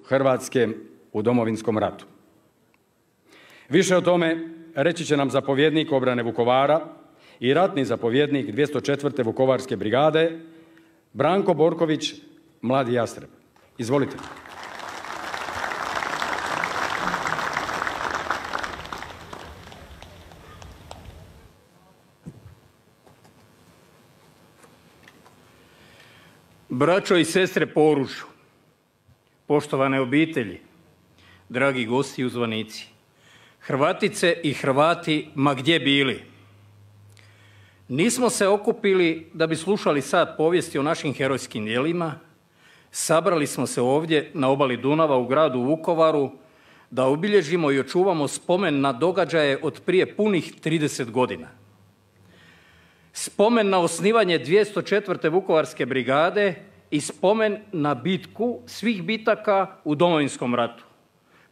Hrvatske u Domovinskom ratu. Više o tome reći će nam zapovjednik obrane Vukovara i ratni zapovjednik 204. Vukovarske brigade Branko Borković, mladi jastreb. Izvolite. Braćo i sestre po oružju, poštovane obitelji, dragi gosti i uzvanici, Hrvatice i Hrvati ma gdje bili. Nismo se okupili da bi slušali sat povijesti o našim herojskim djelima, sabrali smo se ovdje na obali Dunava u gradu Vukovaru da obilježimo i očuvamo spomen na događaje od prije punih 30 godina. Spomen na osnivanje 204. Vukovarske brigade i spomen na bitku svih bitaka u Domovinskom ratu.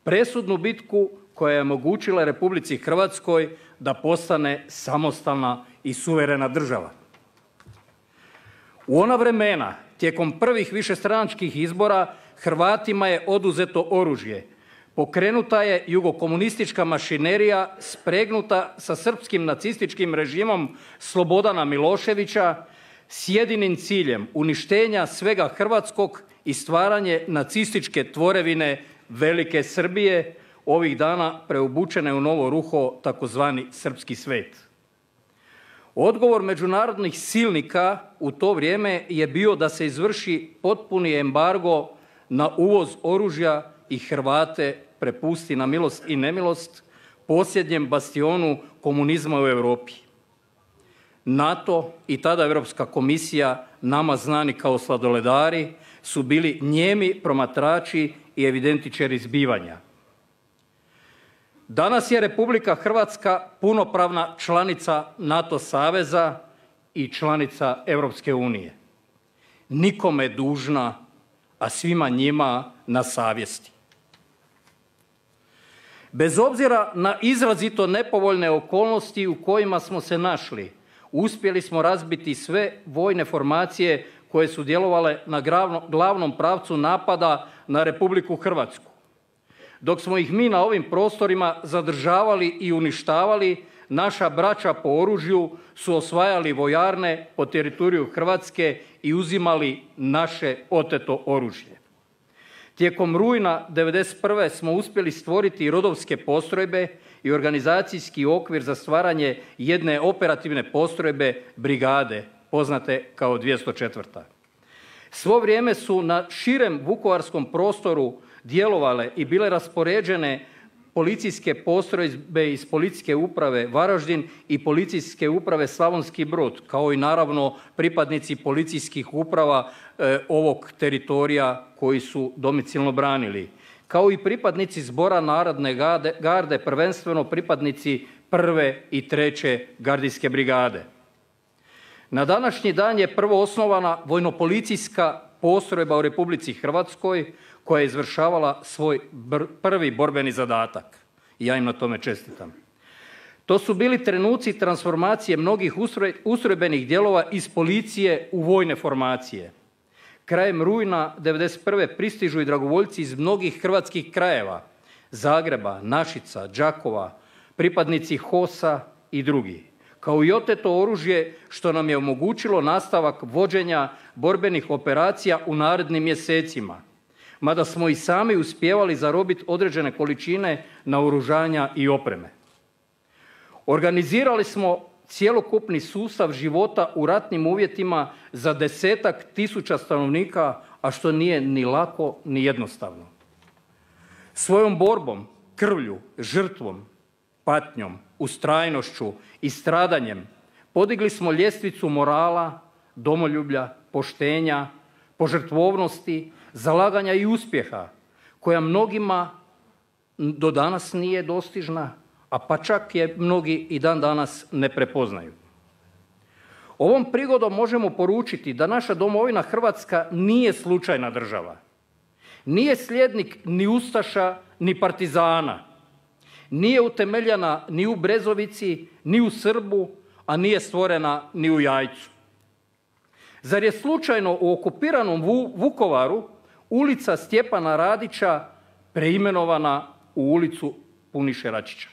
Presudnu bitku koja je omogućila Republici Hrvatskoj da postane samostalna i suverena država. U ona vremena, tijekom prvih višestranačkih izbora, Hrvatima je oduzeto oružje. Pokrenuta je jugokomunistička mašinerija spregnuta sa srpskim nacističkim režimom Slobodana Miloševića s jedinim ciljem uništenja svega hrvatskog i stvaranje nacističke tvorevine Velike Srbije, ovih dana preobučene u novo ruho takozvani srpski svet. Odgovor međunarodnih silnika u to vrijeme je bio da se izvrši potpuni embargo na uvoz oružja i Hrvate prepusti na milost i nemilost posljednjem bastionu komunizma u Europi. NATO i tada Europska komisija, nama znani kao sladoledari, su bili nijemi promatrači i evidentičari zbivanja. Danas je Republika Hrvatska punopravna članica NATO saveza i članica Europske unije. Nikome dužna, a svima njima na savjesti. Bez obzira na izrazito nepovoljne okolnosti u kojima smo se našli, uspjeli smo razbiti sve vojne formacije koje su djelovale na glavnom pravcu napada na Republiku Hrvatsku. Dok smo ih mi na ovim prostorima zadržavali i uništavali, naša braća po oružju su osvajali vojarne po teritoriju Hrvatske i uzimali naše oteto oružje. Tijekom rujna 1991. smo uspjeli stvoriti rodovske postrojbe i organizacijski okvir za stvaranje jedne operativne postrojbe brigade, poznate kao 204. Svo vrijeme su na širem vukovarskom prostoru djelovale i bile raspoređene policijske postrojbe iz Policijske uprave Varaždin i Policijske uprave Slavonski Brod, kao i naravno pripadnici policijskih uprava ovog teritorija koji su domicilno branili, kao i pripadnici Zbora narodne garde, prvenstveno pripadnici 1. i 3. gardijske brigade. Na današnji dan je prvo osnovana vojnopolicijska postrojba u Republici Hrvatskoj koja je izvršavala svoj prvi borbeni zadatak. I ja im na tome čestitam. To su bili trenuci transformacije mnogih ustrojbenih dijelova iz policije u vojne formacije. Krajem rujna 1991. pristižu i dragovoljci iz mnogih hrvatskih krajeva, Zagreba, Našica, Đakova, pripadnici HOS-a i drugi, kao i oteto oružje što nam je omogućilo nastavak vođenja borbenih operacija u narednim mjesecima, mada smo i sami uspijevali zarobiti određene količine naoružanja i opreme. Organizirali smo cjelokupni sustav života u ratnim uvjetima za 10.000 stanovnika, a što nije ni lako ni jednostavno. Svojom borbom, krvlju, žrtvom, patnjom, ustrajnošću i stradanjem podigli smo ljestvicu morala, domoljublja, poštenja, požrtvovnosti, zalaganja i uspjeha, koja mnogima do danas nije dostižna, a pa čak je mnogi i dan danas ne prepoznaju. Ovom prigodom možemo poručiti da naša domovina Hrvatska nije slučajna država. Nije slijednik ni ustaša, ni partizana. Nije utemeljena ni u Brezovici, ni u Srbu, a nije stvorena ni u Jajcu. Zar je slučajno u okupiranom Vukovaru ulica Stjepana Radića preimenovana u ulicu Puniše Račića.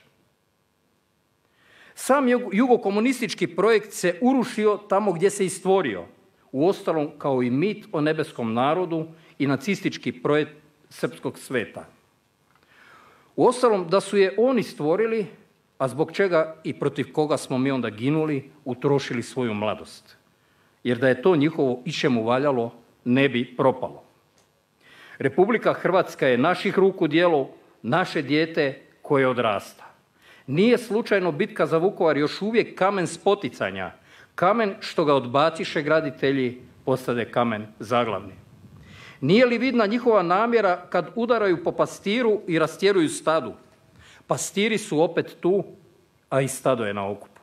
Sam jugokomunistički projekt se urušio tamo gdje se i stvorio, uostalom kao i mit o nebeskom narodu i nacistički projekt srpskog sveta. Uostalom da su je oni stvorili, a zbog čega i protiv koga smo mi onda ginuli, utrošili svoju mladost. Jer da je to njihovo išćemu valjalo, ne bi propalo. Republika Hrvatska je naših ruku djelo, naše dijete koje odrasta. Nije slučajno bitka za Vukovar još uvijek kamen spoticanja, kamen što ga odbaciše graditelji, postade kamen zaglavni. Nije li vidna njihova namjera kad udaraju po pastiru i rastjeruju stadu? Pastiri su opet tu, a i stado je na okupu.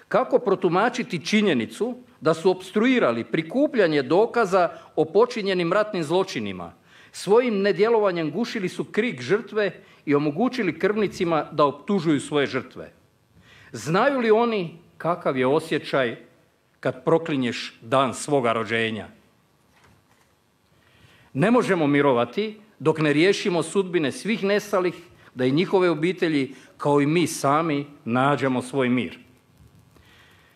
Kako protumačiti činjenicu da su opstruirali prikupljanje dokaza o počinjenim ratnim zločinima? Svojim nedjelovanjem gušili su krik žrtve i omogućili krvnicima da optužuju svoje žrtve. Znaju li oni kakav je osjećaj kad proklinješ dan svoga rođenja? Ne možemo mirovati dok ne riješimo sudbine svih nestalih, da i njihove obitelji, kao i mi sami, nađemo svoj mir.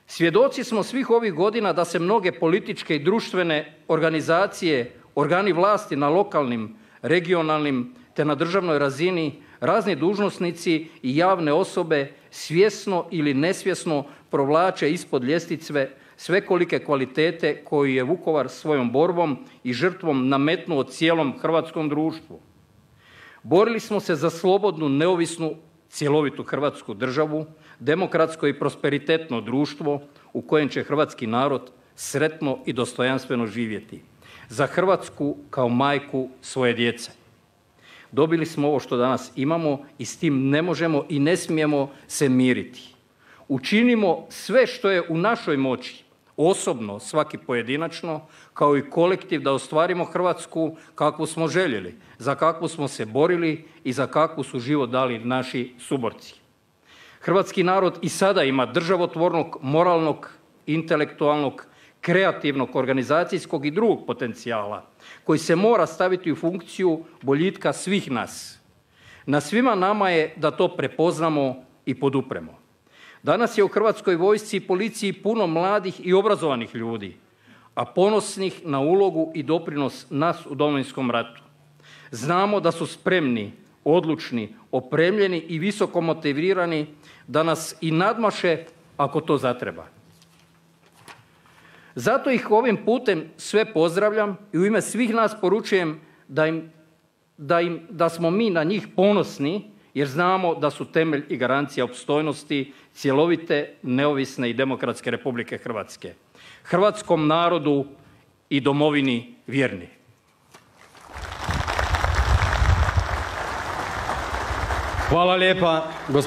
Svjedoci smo svih ovih godina da se mnoge političke i društvene organizacije, organi vlasti na lokalnim, regionalnim te na državnoj razini, razni dužnosnici i javne osobe svjesno ili nesvjesno provlače ispod ljestvice svekolike kvalitete koju je Vukovar svojom borbom i žrtvom nametnuo cijelom hrvatskom društvu. Borili smo se za slobodnu, neovisnu, cjelovitu Hrvatsku državu, demokratsko i prosperitetno društvo u kojem će hrvatski narod sretno i dostojanstveno živjeti. Za Hrvatsku kao majku svoje djece. Dobili smo ovo što danas imamo i s tim ne možemo i ne smijemo se miriti. Učinimo sve što je u našoj moći, osobno, svaki pojedinačno, kao i kolektiv, da ostvarimo Hrvatsku kakvu smo željeli, za kakvu smo se borili i za kakvu su život dali naši suborci. Hrvatski narod i sada ima državotvornog, moralnog, intelektualnog, kreativnog, organizacijskog i drugog potencijala koji se mora staviti u funkciju boljitka svih nas. Na svima nama je da to prepoznamo i podupremo. Danas je u Hrvatskoj vojsci i policiji puno mladih i obrazovanih ljudi, a ponosnih na ulogu i doprinos nas u Domovinskom ratu. Znamo da su spremni, odlučni, opremljeni i visoko motivirani da nas i nadmaše ako to zatreba. Zato ih ovim putem sve pozdravljam i u ime svih nas poručujem da smo mi na njih ponosni, jer znamo da su temelj i garancija opstojnosti cjelovite, neovisne i demokratske Republike Hrvatske. Hrvatskom narodu i domovini vjerni. Hvala lijepa, gospodine